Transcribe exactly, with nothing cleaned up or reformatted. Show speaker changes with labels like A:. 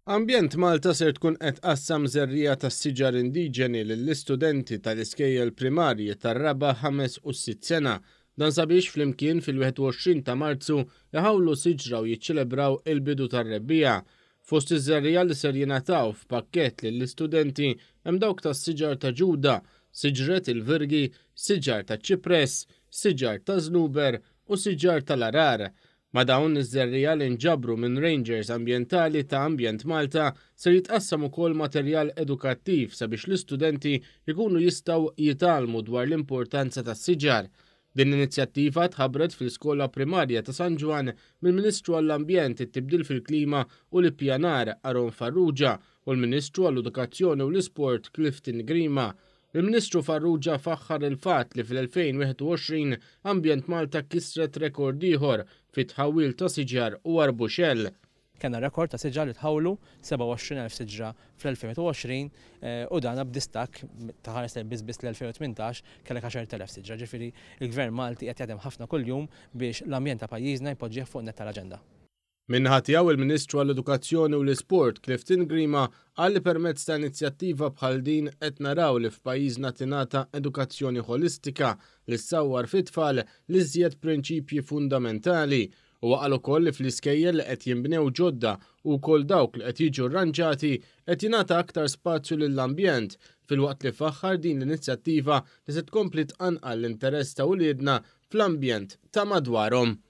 A: Ambjent Malta ser tkun qed tqassam żerriegħa tas-siġar indiġeni lill-istudenti tal-iskejjel primarji tar-raba', ħames u sitt sena. Dan sabiex flimkien fil-wieħed u għoxrin ta' Marzu iħawlu siġra u jiċċelebraw il-bidu tar-rebbiegħa. Fost iż-żerriegħa li ser jingħataw f'pakkett lill-istudenti hemm dawk tas-siġar ta' ġuda, siġret il-virgi, siġar ta' ċipress, siġar ta' żnuber u siġar tal-arar. Ma' dawn iż-żerriegħa li nġabru minn Rangers Ambjentali ta' Ambjent Malta ser jitqassam ukoll materjal edukattiv sabiex l-istudenti jkunu jistgħu jitgħallmu dwar l-importanza tas-siġar. Din l-inizjattiva tħabbret fl-Iskola Primarja ta' San Ġwann mill-Ministru għall-Ambjent, it-Tibdil fil-Klima u l-Ippjanar Aaron Farrugia u l-Ministru għall-Edukazzjoni u l-Isport Clifton Grima. Il-Ministru Farrugia faħħar il-fatt li fl-elfejn wieħed u għoxrin Ambjent Malta kisret rekord ieħor fit-tħawwil ta' siġar u arbuxell.
B: Kellna rekord ta' siġar li tħawlu sebgħa u għoxrin elf siġra fl-elfejn wieħed u għoxrin, eh, u dan b'distakk ta' ħares lejn biss biss l-elfejn u tmintax kellek għaxar elef siġra. Ġifieri il-Gvern Malti qed jaħdem ħafna kuljum biex l-ambjent ta' pajjiżna jpoġġih fuq net tal-aġenda.
A: Min-naħa tiegħu il-Ministru għall-Edukazzjoni u l-Isport Clifton Grima qal li permezz ta' inizjattiva bħal din qed naraw li f'pajjiżna tingħata edukazzjoni ħolistika li ssawwar fit-tfal li żjed prinċipji fundamentali. U qal ukoll li fl-iskejjel li qed jinbnew ġodda u wkoll dawk li qed jiġu rranġati qed jingħata aktar spazju lill-ambjent, filwaqt li faħħar din l-inizjattiva li se tkompli tqanqal l-interess ta' uliedna fl-ambjent ta' madwarhom.